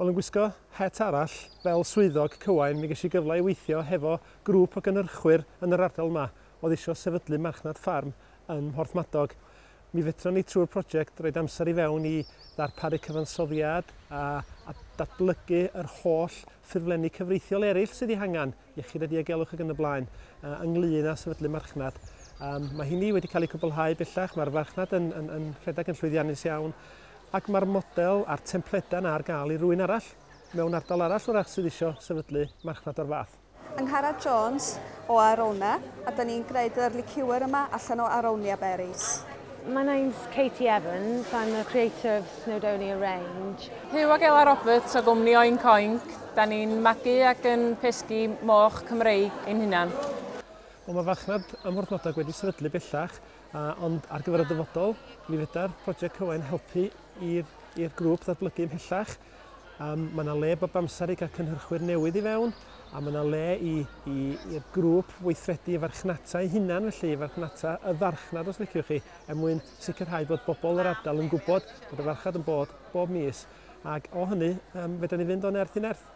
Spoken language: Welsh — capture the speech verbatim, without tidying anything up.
Wel, yn gwisgo het arall fel swyddog Cywain, mi ges i gyfle i weithio hefo grŵp o gynhyrchwyr yn yr ardal yma oedd eisiau sefydlu marchnad ffarm yn Mhorthmadog. Mi fedron ni trwy'r prosiect roed amser i fewn i ddarparu cyfansoddiad a, a datblygu yr holl ffurflenni cyfreithiol eraill sydd eu hangen, iechyd a diogelwch ac yn y blaen, uh, ynglyn â sefydlu marchnad. Um, mae hynny wedi cael ei cwblhau bellach, mae'r farchnad yn, yn, yn rhedeg yn llwyddiannus iawn, ac mae'r model a'r templedau yna ar gael i rywun arall mewn ardal arall wrach sydd eisiau sefydlu marchnad o'r fath. Angharad Jones o Arona, a da ni'n gwneud yr liqueur yma allan o Aronia berries. My name's Katie Evans, I'm the creator of Snowdonia Range. Huw ac Ela Roberts o gwmni Oink Oink. Da ni'n magu ac yn pesgi moch Cymreig ein hunan. Wel, mae farchnad ym Mhorthmadog wedi sefydlu bellach, uh, ond ar gyfer y dyfodol, mi fedra'r prosiect Cywain helpu i'r grŵp ddatblygu ymhellach. Um, mae yna le bob amser i gael cynhyrchwyr newydd i fewn, a mae yna le i, i, i'r grŵp weithredu i farchnata eu hunan, felly i farchnata y farchnad os liciwch chi, er mwyn sicrhau bod bobl yr ardal yn gwybod bod y farchnad yn bod bob mis. Ac o hynny, um, fedrwn ni fynd o nerth i nerth.